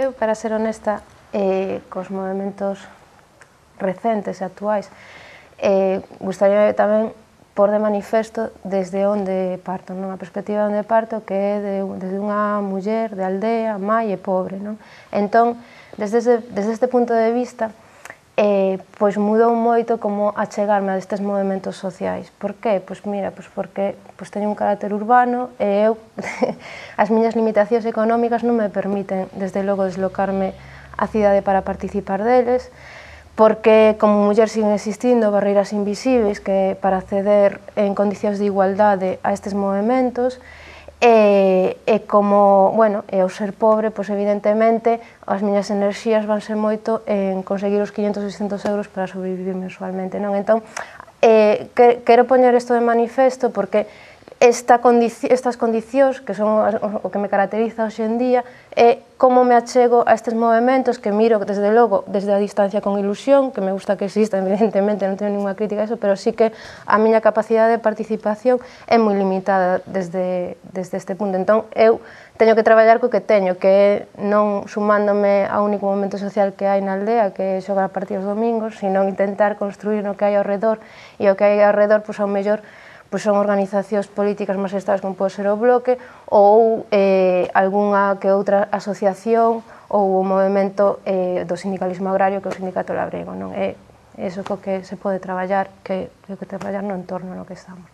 Eu, para ser honesta, cos movimentos recentes e actuais, gustaría tamén pôr de manifesto desde onde parto, a perspectiva onde parto, que é desde unha muller de aldea, mai e pobre. Entón, desde este punto de vista, pois mudou moito como achegarme a estes movimentos sociais. Por qué? Pois mira, porque teño un carácter urbano e eu, as miñas limitacións económicas non me permiten, desde logo, deslocarme á cidade para participar deles, porque como muller siguen existindo barreiras invisibles que para acceder en condicións de igualdade a estes movimentos, e como, bueno, e ao ser pobre, pois evidentemente as miñas enerxías vanse moito en conseguir os 500 ou 600 euros para sobrevivir mensualmente, non? Entón, quero poñer isto de manifesto porque estas condicións, que son o que me caracteriza hoxe en día, é como me achego a estes movimentos que miro, desde logo, desde a distancia con ilusión, que me gusta que exista, evidentemente, non teño ninguna crítica a eso, pero sí que a miña capacidade de participación é moi limitada desde este punto. Entón, eu teño que traballar co que teño, que é non sumándome ao único momento social que hai na aldea, que é xogar partidos domingos, sino intentar construir o que hai ao redor, e o que hai ao redor, pois, ao mellor, son organizacións políticas máis estables como pode ser o Bloque ou algunha que outra asociación ou o movimento do sindicalismo agrario que é o Sindicato Labrego. É iso co que se pode traballar, que traballar no entorno no que estamos.